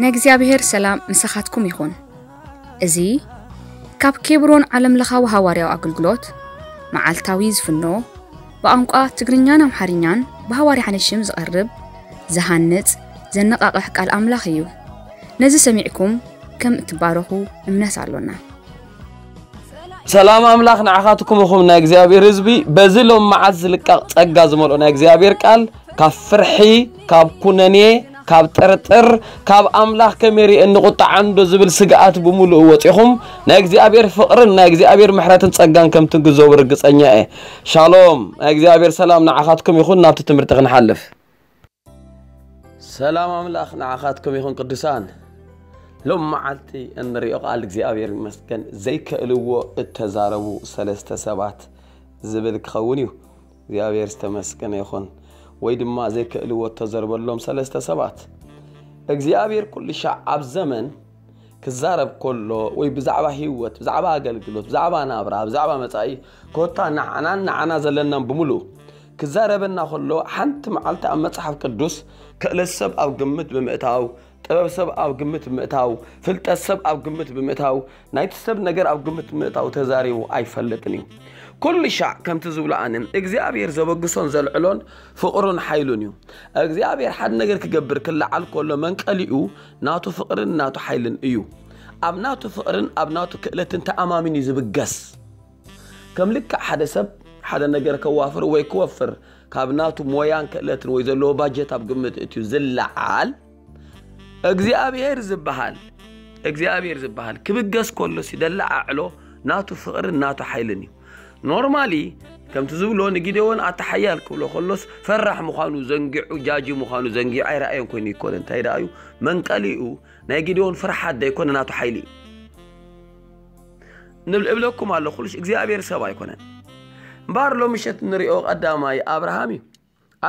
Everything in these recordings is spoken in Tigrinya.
ንእግዚኣብሔር ሰላም ምሳኻትኩም ይኹን። እዚ ካብ ኬብሮን ዓለምለኻዊ ሃዋርያዊ ኣገልግሎት መዓልታዊ ዝፍኖ ብቋንቋ ትግርኛን ኣምሓርኛን ብሃዋርያ ሓነሽም ዝቐርብ ዝሃንጽ ዘነቓቕሕ ቃል ኣምላኽ እዩ። ነዚ ሰሚዕኩም ከም እትባረኹ እምነት ኣሎና። ሰላም ኣምላኽ ንዓኻትኩም ይኹን ናይ እግዚኣብሔር ህዝቢ። በዚ ሎም መዓልቲ ዝልቀቕ ጸጋ ዝመልኦ ናይ እግዚኣብሔር ቃል ካብ ፍርሒ፣ ካብ ኩነኔ፣ ካብ ጥርጥር፣ ካብ ኣምላኽ ከመይ ርእየኒ ቁጥዓንዶ ዝብል ስግኣት ብምሉኡ ወጺኹም ናይ እግዚኣብሔር ፍቕርን ናይ እግዚኣብሔር ምሕረትን ጸጋን ከም ትግዘቡ ርግጸኛ እየ። ሻሎም ናይ እግዚኣብሔር ሰላም ንዓኻትኩም ይኹን። ናብቲ ትምህርቲ ክንሓልፍ። ሰላም ኣምላኽ ንዓኻትኩም ይኹን ቅዱሳን። ሎም መዓልቲ እንሪኦ ቃል እግዚኣብሔር ይመስገን። ዘይከእልዎ እተዛረቡ ሰለስተ ሰባት ዝብል ክኸውን እዩ። እግዚኣብሔር ዝተመስገነ ይኹን። ወይ ድማ ዘይከእልዎ እተዘርበሎም ሰለስተ ሰባት። እግዚኣብሔር ኩሉ ሻዕ ኣብ ዘመን ክዛረብ ከሎ ወይ ብዛዕባ ህይወት፣ ብዛዕባ ኣገልግሎት፣ ብዛዕባ ናብራ፣ ብዛዕባ መጻኢ ኮታ ንዓናን ንዓና ዘለናን ብምሉእ ክዛረበና ከሎ ሓንቲ መዓልቲ ኣብ መጽሓፍ ቅዱስ ክእለት ሰብ ኣብ ግምት ብምእታው፣ ጥበብ ሰብ ኣብ ግምት ብምእታው፣ ፍልጠት ሰብ ኣብ ግምት ብምእታው፣ ናይቲ ሰብ ነገር ኣብ ግምት ብምእታው ተዛሪቡ ኣይፈልጥን እዩ። ኩሉ ሻዕ ከምቲ ዝብሎ ኣነ እግዚኣብሔር ዘበግሶን ዘልዕሎን ፍቕሩን ሓይሉን እዩ። እግዚኣብሔር ሓደ ነገር ክገብር ክለዓል ከሎ መንቀሊኡ ናቱ ፍቕርን ናቱ ሓይልን እዩ። ኣብ ናቱ ፍቕርን ኣብ ናቱ ክእለትን ተኣማሚን እዩ ዝብገስ። ከም ልክዕ ሓደ ሰብ ሓደ ነገር ከዋፍር ወይ ክወፍር ካብ ናቱ ሞያን ክእለትን ወይ ዘለዎ ባጀት ኣብ ግምት እትዩ ዝለዓል እግዚኣብሔር ዝበሃል እግዚኣብሔር ዝበሃል ክብገስ ከሎ ሲ ደለዓዕሎ ናቱ ፍቕርን ናቱ ሓይልን እዩ። ኖርማሊ ከምቲ ዝብሎ ንጊደዎን ኣተሓያል ክብሎ ከሎስ ፈራሕ ምዃኑ ዘንጊዑ ጃጂ ምዃኑ ዘንጊዑ ኣይረኣየን ኮይኑ ይኮነ እንታይ ደኣ እዩ መንቀሊኡ ናይ ጊደዎን ፍርሓት ደይኮነ ናቱ ሓይሊ እዩ። ንብል እብለኩም ኣለኹ እግዚኣብሔር ሰብ ኣይኮነን። እምበኣር ሎሚ ምሸት ንሪኦ ቀዳማይ ኣብርሃም እዩ።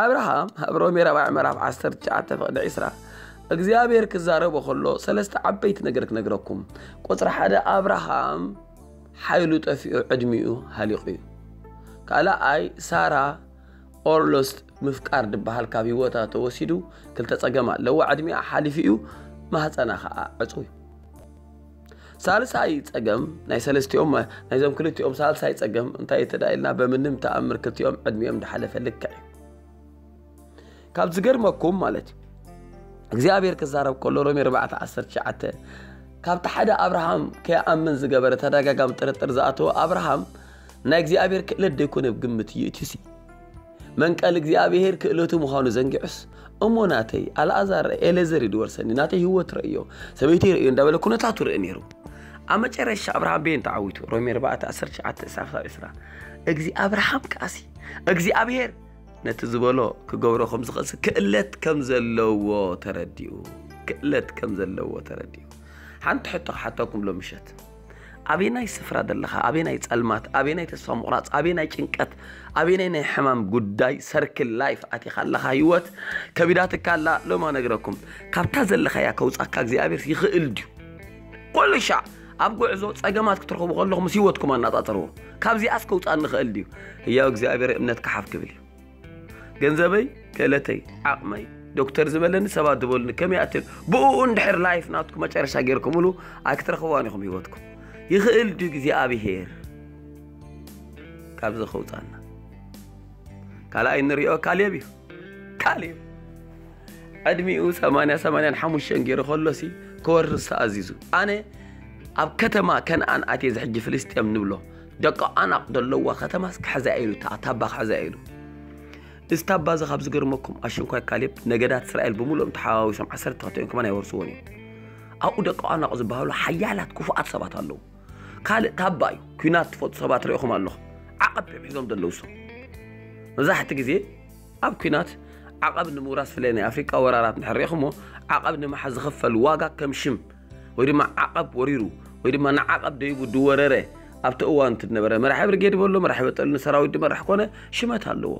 ኣብርሃም ኣብ ሮሜ ራብዓይ ምዕራፍ ዓሰርተ ትሽዓተ ፍቕዲ ዒስራ እግዚኣብሔር ክዛረቦ ከሎ ሰለስተ ዓበይቲ ነገር ክነግረኩም። ቁፅሪ ሓደ ኣብርሃም ሓይሉ ጠፊኡ ዕድሚኡ ሃሊቑ እዩ። ካልኣይ ሳራ ኦርሎስት ምፍቃር ድበሃል ካብ ህይወታ ተወሲዱ ክልተ ጸገም ኣለዎ። ዕድሚኣ ሓሊፉ እዩ ማህፀና ከዓ ዕፁ እዩ። ሳልሳይ ጸገም ናይ ሰለስቲኦም ናይዞም ክልቲኦም ሳልሳይ ጸገም እንታይ ተዳ ኢልና በምንም ተኣምር ክልቲኦም ዕድሚኦም ድሓለፈ ልክዕ እዩ። ካብ ዝገርመኩም ማለት እዩ እግዚኣብሔር ክዛረብ ከሎ ሮሜ ኣርባዕተ ዓሰርተ ትሽዓተ ካብቲ ሓደ ኣብርሃም ከይኣምን ዝገበረ ተደጋጋሚ ጥርጥር ዝኣተወ ኣብርሃም ናይ እግዚኣብሔር ክእለት ደይኮነ ግምት እዩ እቲ ሲ መንቀል እግዚኣብሔር ክእለቱ ምዃኑ ዘንጊዑስ እሞ ናተይ ኣልኣዛር ኤሌዘር እዩ ድወርሰኒ ናተይ ህይወት ረእዮ ሰበይቲ ረእዮ እንዳበለ ኩነታቱ ርኢ ነይሩ። ኣብ መጨረሻ ኣብርሃም ቤን ተዓዊቱ ሮሜ ኣርባዕተ ዓሰርተ ትሽዓተ እስካብ ዕስራ። እግዚ ኣብርሃም ከኣሲ እግዚኣብሔር ነቲ ዝበሎ ክገብሮ ከም ዝኽእል ክእለት ከም ዘለዎ ተረዲኡ ክእለት ከም ዘለዎ ተረዲኡ። ሓንቲ ሕቶ ክሓተኩም ሎ ምሸት ኣበናይ ስፍራ ዘለኻ ኣበናይ ጸልማት ኣበናይ ተስፋ ምቑራጽ ኣበናይ ጭንቀት ኣበናይ ናይ ሕማም ጉዳይ ሰርክል ላይፍ ኣቲኻ ኣለኻ ህይወት ከቢዳትካ ኣላ ሎማ ነግረኩም ካብታ ዘለኻያ ከውጻካ እግዚኣብሔር ይኽእል ድዩ? ኩሉ ሻዕ ኣብ ጉዕዞ ጸገማት ክትረኽቡ ከለኹም ምስ ህይወትኩም ኣናጻጽርዎ። ካብዚኣስ ከውጻኒ ይኽእል ድዩ? ህያው እግዚኣብሔር እምነት ክሓፍ ክብል እዩ። ገንዘበይ፣ ክእለተይ፣ ዓቕመይ፣ ዶክተር ዝበለኒ ሰባት ዝበሉኒ ከመይ ኣትል ብኡ እንድሕር ላይፍ ናትኩም መጨረሻ ገይርኩምሉ ኣይክትረኽብዋን ኢኹም ህይወትኩም። ይኽእል ድዩ እግዚኣብሔር ካብዚ ከውጻና? ካልኣይ እንሪኦ ካሌብ እዩ። ካሌብ ዕድሚኡ ሰማንያ ሰማንያን ሓሙሽተን ገይሩ ከሎሲ ክወርስ ተኣዚዙ ኣነ ኣብ ከተማ ከነኣን ኣትየ ዝሕጂ ፍልስጤም ንብሎ ደቂ ኣናቕ ዘለዋ ከተማስ ክሕዛ ኢሉ ታባ ክሕዛ ኢሉ እዚ ታባ እዚ ካብ ዝገርመኩም ኣሽንኳይ ካሌብ ነገዳት እስራኤል ብምሉኦም ተሓዋዊሶም ዓሰርተ ክልተ እዮም ከማን ኣይወርስዎን እዮም። ኣብኡ ደቂ ኣናቕ ዝበሃሉ ሓያላት ክፉኣት ሰባት ኣለዉ። ካልእ ታባ እዩ ኩናት ትፈጡ ሰባት ርኢኹም ኣለኹም። ዓቐብ እዮም ሒዞም ዘለዉ እሶም መብዛሕቲ ግዜ ኣብ ኩናት ዓቐብ ንምውራስ ፍለይ ናይ ኣፍሪቃ ወራራት እንድሕር ርኢኹሞ ዓቐብ ንምሓዝ ዝኽፈል ዋጋ ከም ሽም ወይ ድማ ዓቐብ ወሪሩ ወይ ድማ ንዓቐብ ደይቡ ድወረረ ኣብቲ እዋን እቲ ዝነበረ መራሒ ብርጌድ በሎ መራሒ በጠሉ ንሰራዊት ድመራሕ ኮነ ሽመት ኣለዎ።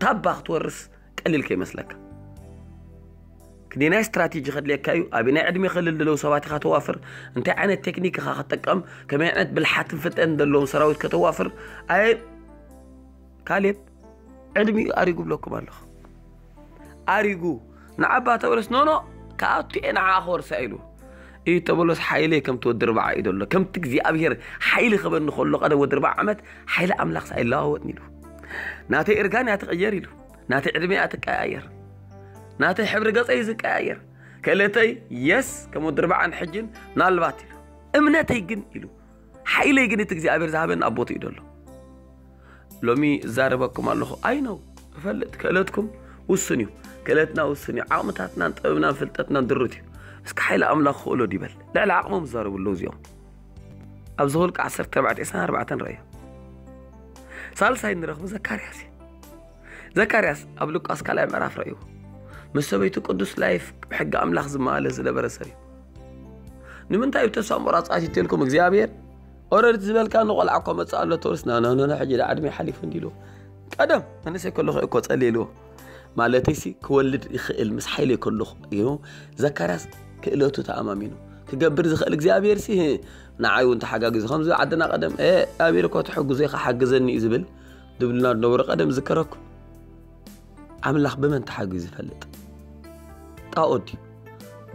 ታባ ክትወርስ ቀሊል ከይመስለካ። ክንደይ ናይ ስትራቴጂ ከድልየካ እዩ፣ ኣበይ ናይ ዕድሜ ክልል ዘለዉ ሰባት ኢኻ ተዋፍር፣ እንታይ ዓይነት ቴክኒክ ኢኻ ክትጥቀም፣ ከመይ ዓይነት ብልሓትን ፍጠን ዘለዎም ሰራዊት ከተዋፍር። ኣየ ካሌብ ዕድሚኡ ኣሪጉ ብለኩም ኣለኹ። ኣሪጉ ንዓባ ተበለስ ኖኖ ክኣቱ እየ ንዓኣ ክወርሳ ኢሉ። እዩ ተበሎስ ሓይለይ ከምቲ ወዲ ርብዓ እዩ ዘሎ። ከምቲ እግዚኣብሔር ሓይሊ ክበኒ ከሎ ቀደም ወዲ ርብዓ ዓመት ሓይሊ ኣምላኽ ሳይለዋወጥኒ ኢሉ። ናተይ እርጋን እያ ትቕየር ኢሉ። ናተይ ዕድመ እያ ትቀያየር። ናተይ ሕብሪ ገጸይ እዩ ዝቀያየር። ክእለተይ የስ ከም ወዲ ርብዓን ሕጅን ምናልባት ኢሉ። እምነተይ ግን ኢሉ። ሓይለይ ግን እቲ እግዚኣብሔር ዝሃበኒ ኣብ ቦትኡ እዩ ዘሎ። ሎሚ እዛረበኩም ኣለኹ። ኣይ ነው እፈልጥ ክእለትኩም ውስን እዩ። ክእለትና ውስን እዩ። ዓቕምታትናን ጥበብናን ፍልጠትናን ድሩት እዩ። እስኪ ሓይሊ ኣምላኽ ክእሎ ዲበል ልዕሊ ዓቕሞም ዝዛረቡ ኣለዉ እዚኦም። ኣብ ዘኍልቁ ዓሰርተ ኣርባዕተ ዕስራን ኣርባዕተን ረእዮ። ሳልሳይ ንረኽቡ ዘካርያስ እዩ። ዘካርያስ ኣብ ሉቃስ ካልኣይ ምዕራፍ ረእይዎ። ምስ ሰበይቱ ቅዱስ ላይፍ ሕጊ ኣምላኽ ዝመሃለ ዝነበረ ሰብ እዩ። ንምንታይ እዩ ተስፋ ምቑራጽ ኣትዩ ትልኩም እግዚኣብሔር? ኦረድት ዝበልካ ንቆልዓ እኮ መጽእ ኣሎ ተወልስ ና ና ና ሕጂ ዳ ዕድሜ ሓሊፉ እንዲሉ ቀደም መንእሰይ ከለኹ እኮ ጸልየልዎ ማለተይሲ ክወልድ ይኽእል ምስ ሓይለይ ከለኹ እዩ። ዘካርያስ ክእለቱ ተኣማሚኑ ክገብር ዝኽእል እግዚኣብሔር ሲ ንዓይ እውን ተሓጋጊዙ ከምዚ ዓድና ቀደም እግዚኣብሔር እኮ ተሐጉዞ ኢኻ ሓግዘኒ እዩ ዝብል ድብልና ዝነበሩ ቀደም ዝከረኩ ኣምላኽ ብመን ተሓጊዙ ይፈልጥ? ጣኦት ድዩ?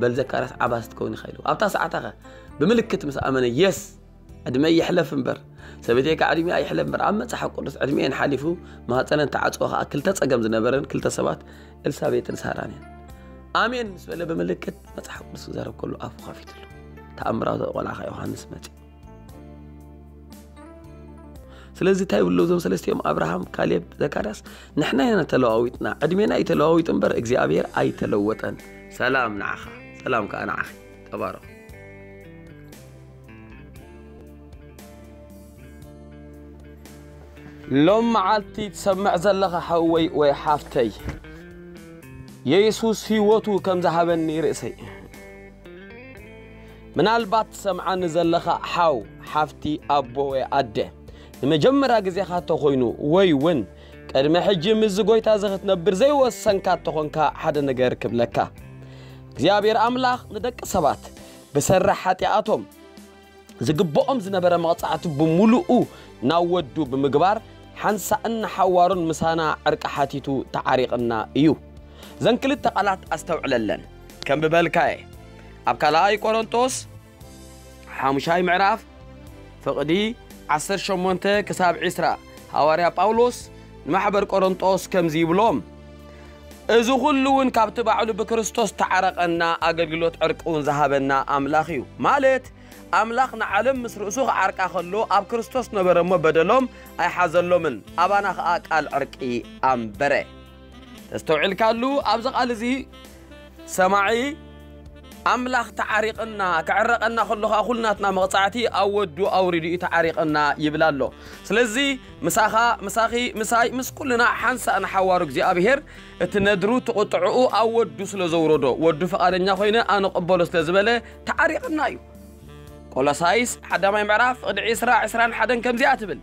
በል ዘካርያስ ዓባስ ትከውን ኢኻ ኢሉ ኣብታ ሰዓታ ኸ ብምልክት ምስ ኣመነ የስ ዕድመ ይሕለፍ እምበር ሰበይተይ ከዓ ዕድሜኣ ይሕለፍ እምበር ኣብ መፅሓፍ ቅዱስ ዕድሜኤን ሓሊፉ ማህፀነን ተዓፅወ ከዓ ክልተ ፀገም ዝነበረን ክልተ ሰባት ኤልሳቤጥን ሳራን እየን። ኣሜን ምስ በለ ብምልክት መፅሓፍ ቅዱስ ክዛረብ ከሎ ኣፉ ከፊትሉ ተኣምራዊ ቆልዓ ከዓ ዮሃንስ መፂ። ስለዚ እንታይ ይብሉ እዞም ሰለስቲኦም ኣብርሃም ካሌብ ዘካርያስ ንሕና ኢና ተለዋዊጥና ዕድሜና እዩ ተለዋዊጡ እምበር እግዚኣብሔር ኣይተለወጠን። ሰላም ንዓኻ ሰላም ከዓ ንዓኺ። ተባረኹ። ሎም መዓልቲ ትሰምዕ ዘለኻ ሓወይ ወይ ሓፍተይ የሱስ ህይወቱ ከም ዝሃበኒ ርእሰይ ምናልባት ትሰምዓኒ ዘለኻ ሓው ሓፍቲ ኣቦ ወይ ኣደ ንመጀመርያ ግዜኻ ተኾይኑ ወይ እውን ቅድሚ ሕጂ ምስዚ ጎይታ እዚ ክትነብር ዘይወሰንካ ተኾንካ ሓደ ነገር ክብለካ እግዚኣብሔር ኣምላኽ ንደቂ ሰባት ብሰራሕ ሓጢኣቶም ዝግብኦም ዝነበረ መቕጻዕቲ ብምሉኡ ናብ ወዱ ብምግባር ሓንሳእን ንሓዋሩን ምሳና ዕርቂ ሓቲቱ ተዓሪቕና እዩ። እዘን ክልተ ቃላት ኣስተውዕለለን። ከም ብበልካየ ኣብ ካልኣይ ቆሮንጦስ ሓሙሻይ ምዕራፍ ፍቕዲ ዓሰርተ ሸሞንተ ክሳብ ዕስራ ሃዋርያ ጳውሎስ ንማሕበር ቆሮንጦስ ከምዚ ይብሎም፣ እዚ ኩሉ እውን ካብቲ ባዕሉ ብክርስቶስ ተዓረቐና ኣገልግሎት ዕርቂ እውን ዝሃበና ኣምላኽ እዩ። ማለት ኣምላኽ ንዓለም ምስ ርእሱ ክዓርቃ ከሎ ኣብ ክርስቶስ ነበረ እሞ በደሎም ኣይሓዘሎምን፣ ኣባና ኸኣ ቃል ዕርቂ ኣንበረ። ተስተውዒልካሉ ኣብዚ ቃል እዚ ሰማዒ ኣምላኽ ተዓሪቕና ክዕረቐና ከሎ ኸዓ ኩልናትና መቕጻዕቲ ኣብ ወዱ ኣውሪዱ እዩ ተዓሪቕና ይብል ኣሎ። ስለዚ ምሳኻ ምሳኺ ምሳይ ምስ ኩልና ሓንሳእ ንሓዋሩ እግዚኣብሔር እቲ ነድሩ እቲ ቁጥዕኡ ኣብ ወዱ ስለ ዘውረዶ ወዱ ፍቓደኛ ኮይነ ኣነ ቅበሎ ስለ ዝበለ ተዓሪቕና እዩ። ቆሎሳይስ ሓዳማይ ምዕራፍ ፍቕዲ ዕስራ ዕስራን ሓደን ከምዚኣ ትብል፣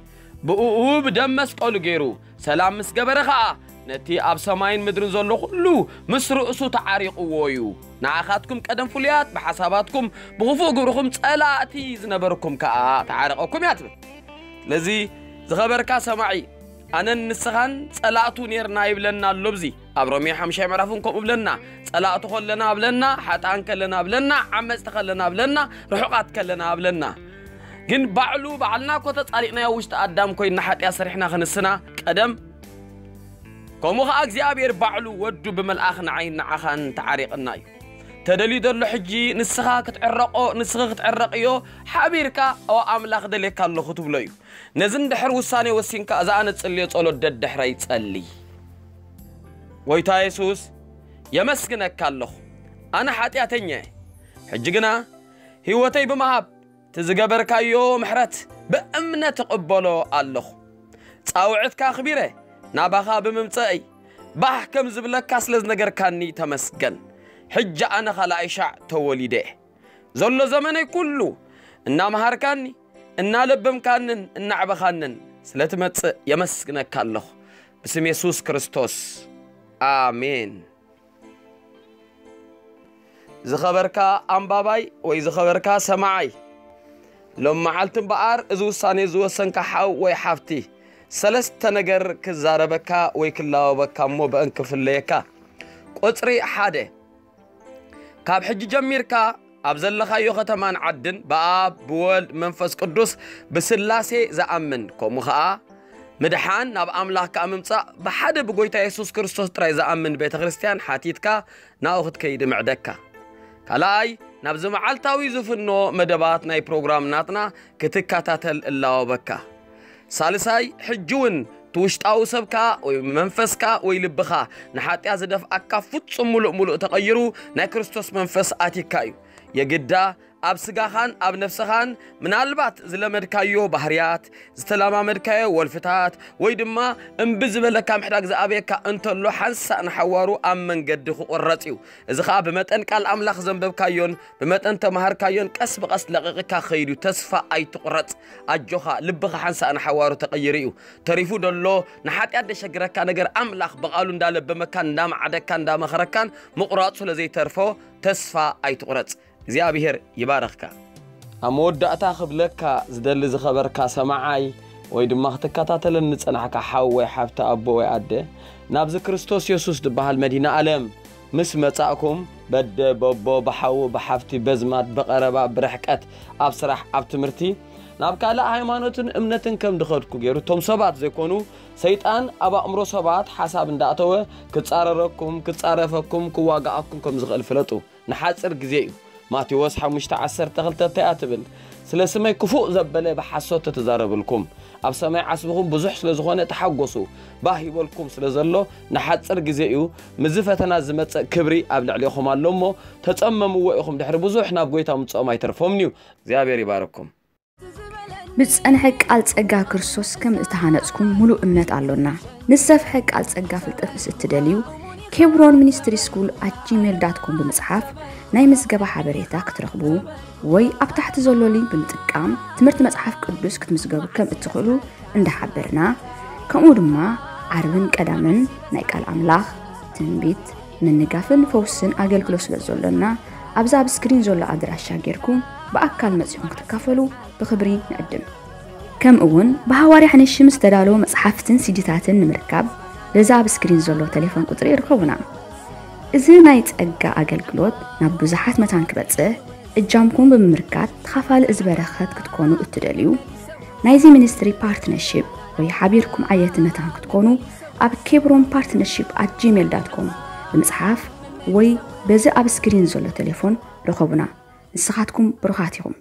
ብእኡ ብደም መስቀሉ ገይሩ ሰላም ምስ ገበረ ኸኣ ነቲ ኣብ ሰማይን ምድርን ዘሎ ኩሉ ምስ ርእሱ ተዓሪቕዎ እዩ። ንዓኻትኩም ቀደም ፍሉያት ብሓሳባትኩም ብኽፉእ ግብርኹም ጸላእቲ ዝነበርኩም ከኣ ተዓረቐኩም እያ ትብል። ስለዚ ዝኸበርካ ሰማዒ ኣነን ንስኻን ጸላእቱ ኔርና ይብለና ኣሎ። ብዚ ኣብ ሮሜ ሓምሻይ ምዕራፍን ከምኡ ብለና፣ ጸላእቱ ከለና ብለና፣ ሓጥኣን ከለና ብለና፣ ዓመጽቲ ከለና ብለና፣ ርሑቓት ከለና ብለና። ግን ባዕሉ ባዕልና እኮ ተጻሊእናዮ ውሽጢ ኣዳም ኮይንና ሓጢኣት ሰሪሕና ክንስና ቀደም ከምኡ ኸዓ እግዚኣብሔር ባዕሉ ወዱ ብመልኣኽ ንዓይን ንዓኻን ተዓሪቕና እዩ። ተደልዩ ዘሎ ሕጂ ንስኻ ክትዕረቆ ንስኺ ክትዕረቅዮ ሓቢርካ ኦ ኣምላኽ ደልየካ ኣለኹ ትብሎ እዩ። ነዚ እንድሕር ውሳኔ ወሲንካ እዛ ኣነ ዝጽልዮ ጸሎት ደድሕረይ ጸሊ። ጎይታ የሱስ የመስግነካ ኣለኹ። ኣነ ሓጢኣተኛ እየ። ሕጂ ግና ህይወተይ ብምሃብ እቲ ዝገበርካዮ ምሕረት ብእምነት እቕበሎ ኣለኹ። ጻውዕትካ ኣኽቢረ ናባኻ ብምምጸእይ ባህ ከም ዝብለካ ስለ ዝነገርካኒ ተመስገን። ሕጂ ኣነ ኻልኣይ ሻዕ ተወሊደ እየ። ዘሎ ዘመነይ ኩሉ እናመሃርካኒ እናለበምካንን እናዕበኻንን ስለ ትመጽእ የመስግነካ ኣለኹ። ብስም የሱስ ክርስቶስ ኣሜን። ዝኸበርካ ኣንባባይ ወይ ዝኸበርካ ሰማዓይ፣ ሎም መዓልቲ እምበኣር እዚ ውሳኔ ዝወሰንካ ሓው ወይ ሓፍቲ ሰለስተ ነገር ክዛረበካ ወይ ክላወበካ እሞ ብእን ክፍለየካ። ቁጽሪ ሓደ፣ ካብ ሕጂ ጀሚርካ ኣብ ዘለኻዮ ከተማን ዓድን ብኣብ ብወልድ መንፈስ ቅዱስ ብስላሴ ዝኣምን፣ ከምኡ ኸኣ ምድሓን ናብ ኣምላኽ ከኣ ምምጻእ ብሓደ ብጎይታ የሱስ ክርስቶስ ጥራይ ዝኣምን ቤተ ክርስቲያን ሓቲትካ ናብኡ ክትከይድ እምዕደካ። ካልኣይ፣ ናብዚ መዓልታዊ ዝፍኖ መደባት ናይ ፕሮግራም ናትና ክትከታተል እላወበካ። ሳልሳይ፣ ሕጂ እውን እቲ ውሽጣዊ ሰብካ ወይ መንፈስካ ወይ ልብኻ ንሓጢኣት ዝደፍኣካ ፍጹም ምሉእ ምሉእ ተቐይሩ ናይ ክርስቶስ መንፈስ ኣቲካ እዩ። የግዳ ኣብ ስጋኻን ኣብ ነፍስኻን ምናልባት ዝለመድካዮ ባህርያት፣ ዝተለማመድካዮ ወልፍታት ወይ ድማ እምቢ ዝበለካ ምሕዳግ ዝኣበየካ እንተሎ ሓንሳእ ንሓዋሩ ኣብ መንገዲ ክቑረጽ እዩ። እዚ ኸኣ ብመጠን ቃል ኣምላኽ ዘንበብካዮን ብመጠን ተማሃርካዮን ቀስ ብቐስ ለቒቕካ ክኸይድ እዩ። ተስፋ ኣይትቑረጽ። ኣጆኻ፣ ልብኻ ሓንሳእ ንሓዋሩ ተቐይሩ እዩ። ተሪፉ ደሎ ንሓጢኣት ደሸግረካ ነገር ኣምላኽ ብቓሉ እንዳለበመካን እንዳመዓደካን እንዳመኸረካን ምቑራጹ ስለ ዘይተርፎ ተስፋ ኣይትቑረጽ። እግዚኣብሔር ይባረኽካ። ኣብ መወዳእታ ክብለካ ዝደሊ ዝኸበርካ ሰማዓይ ወይ ድማ ክትከታተለኒ ዝጸናሕካ ሓው ወይ ሓብቲ ኣቦ ወይ ኣደ ናብዚ ክርስቶስ የሱስ ዝበሃል መድኃኔ ዓለም ምስ መጻእኩም በደ በቦ ብሓዉ ብሓፍቲ በዝማድ ብቐረባ ብርሕቀት ኣብ ስራሕ ኣብ ትምህርቲ ናብ ካልእ ሃይማኖትን እምነትን ከም ድኸድኩ ገይሩ እቶም ሰባት ዘይኮኑ ሰይጣን ኣብ ኣእምሮ ሰባት ሓሳብ እንዳእተወ ክጻረረኩም ክጻረፈኩም ክዋጋኣኩም ከም ዝኽእል ፍለጡ። ንሓጽር ግዜ እዩ። ማቴዎስ ሓሙሽተ ዓሰርተ ክልተ እንታይ እያ ትብል? ስለ ስመይ ክፉእ ዘበለ ብሓሶት ተተዛረብልኩም ኣብ ሰማይ ዓስብኹም ብዙሕ ስለ ዝኾነ ተሓጎሱ ባህ ይበልኩም ስለ ዘሎ ንሓጽር ግዜ እዩ። ምዚ ፈተና ዝመጸእ ክብሪ ኣብ ልዕሌኹም ኣሎ እሞ ተጸመምዎ ኢኹም ድሕሪ ብዙሕ ናብ ጎይታ ምጽኦም ኣይተርፎምን እዩ። እግዚኣብሔር ይባረኩም። ብዝጸንሐ ቃል ጸጋ ክርስቶስ ከም እተሃነጽኩም ምሉእ እምነት ኣሎና። ንዝሰፍሐ ቃል ጸጋ ፍልጠት ምስ እትደልዩ ኬብሮን ሚኒስትሪ ስኩል ኣት ጂሜል ዳት ኮም ብምጽሓፍ ናይ ምዝገባ ሓበሬታ ክትረኽቡ ወይ ኣብ ታሕቲ ዘሎ ሊንክ ብምጥቃም ትምህርቲ መጽሓፍ ቅዱስ ክትምዝገቡ ከም እትኽእሉ እንዳሓበርና ከምኡ ድማ ዓርብን ቀዳምን ናይ ቃል ኣምላኽ ትንቢት ምንጋፍን ፈውስን ኣገልግሎት ስለ ዘሎና ኣብዚ ኣብ ስክሪን ዘሎ ኣድራሻ ጌርኩም ብኣካል መጺኹም ክትካፈሉ ብኽብሪ ንዕድም። ከምኡ እውን ብሃዋርያ ሓነሽም ዝተዳለዉ መጽሓፍትን ሲዲታትን ንምርካብ በዚ ኣብ ስክሪን ዘሎ ቴሌፎን ቁጽሪ ይርከቡና። እዚ ናይ ጸጋ ኣገልግሎት ናብ ብዙሓት መታን ክበጽሕ እጃምኩም ብምምርካት ተኻፋሊ እዚ በረኸት ክትኮኑ እትደልዩ ናይዚ ሚኒስትሪ ፓርትነርሺፕ ወይ ሓቢርኩም ዓየቲ መታን ክትኮኑ ኣብ ኬብሮን ፓርትነርሺፕ ኣት ጂሜል ዳት ኮም ብምጽሓፍ ወይ በዚ ኣብ ስክሪን ዘሎ ቴሌፎን ርኸቡና። ንስኻትኩም ብሩኻት ኢኹም።